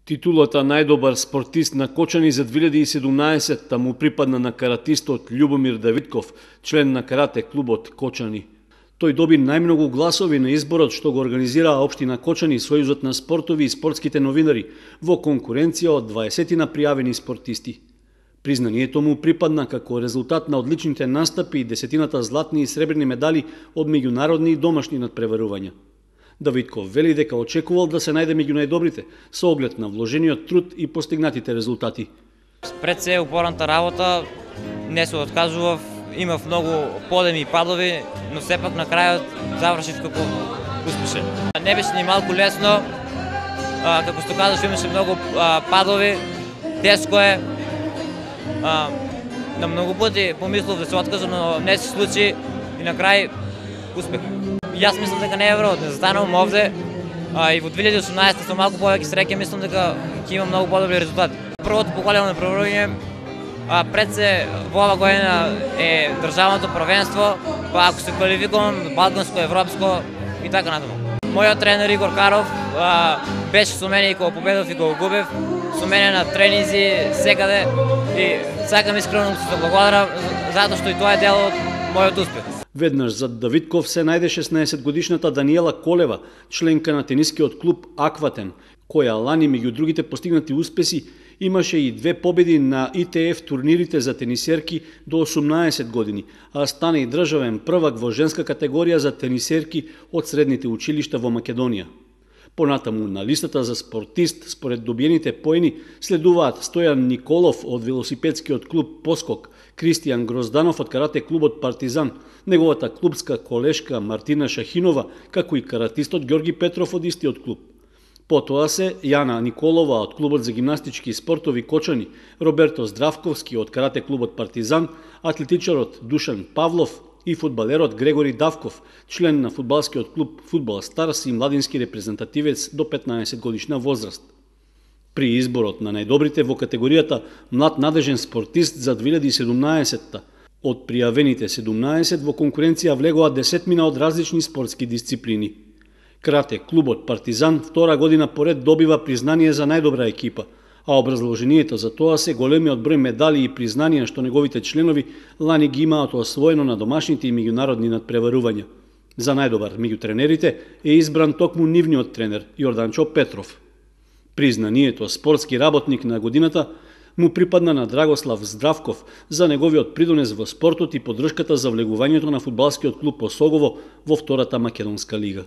Титулата најдобар спортист на Кочани за 2017 му припадна на каратистот Љубомир Давидков, член на карате клубот Кочани. Тој доби најмногу гласови на изборот што го организираа општина Кочани, Сојузот на спортови и спортските новинари, во конкуренција од 20 пријавени спортисти. Признанието му припадна како резултат на одличните настапи и 10 златни и сребрени медали од меѓународни и домашни надпреварувања. Давидков вели дека очекувал да се најде меѓу најдобрите, со оглед на вложениот труд и постигнатите резултати. Пред се упорната работа не се откажував, имав многу подеми и падови, но сепак на крајот завршив како успешен. Не беше ни малку лесно, како што кажаш, имаше многу падови, тешко е. На многу пати помислов да се откажам, но не се случи и на крај успех. Јас мислам дека не е време да застанувам овде и во 2018 со малку повеќе среќа мислам дека ќе имам многу подобри резултати. Првото поголемо направување пред се во ова година е државното првенство, па ако се квалификувам балканско, европско и така натаму. Мојот тренер Игор Каров беше со мене и кога победов и кога губев, со мене на тренинзи секаде и сакам искрено да се благодарам затоа што и тоа е дел од мојот успех. Веднаш зад Давидков се најде 16-годишната Даниела Колева, членка на тенискиот клуб Акватен, која лани меѓу другите постигнати успеси имаше и 2 победи на ITF турнирите за тенисерки до 18 години, а стана и државен првак во женска категорија за тенисерки од средните училишта во Македонија. Понатаму на листата за спортист според добиените поени следуваат Стојан Николов од велосипедскиот клуб Поскок, Кристијан Грозданов од карате клубот Партизан, неговата клубска колешка Мартина Шахинова, како и каратистот Ѓорги Петров од истиот клуб. Потоа се Јана Николова од клубот за гимнастички спортови Кочани, Роберто Здравковски од карате клубот Партизан, атлетичарот Душан Павлов и фудбалерот Грегори Давков, член на фудбалскиот клуб Фудбал Старс и младински репрезентативец до 15 годишна возраст. При изборот на најдобрите во категоријата млад надежен спортист за 2017 од пријавените 17 во конкуренција влегоа 10 од различни спортски дисциплини. Карате клубот Партизан втора година поред добива признание за најдобра екипа, а образложението за тоа се големиот број медали и признанија што неговите членови лани ги имаат освоено на домашните и меѓународни надпреварувања. За најдобар меѓу тренерите е избран токму нивниот тренер Јорданчо Петров. Признанието спортски работник на годината му припадна на Драгослав Здравков за неговиот придонес во спортот и поддршката за влегувањето на фудбалскиот клуб Осогово во втората македонска лига.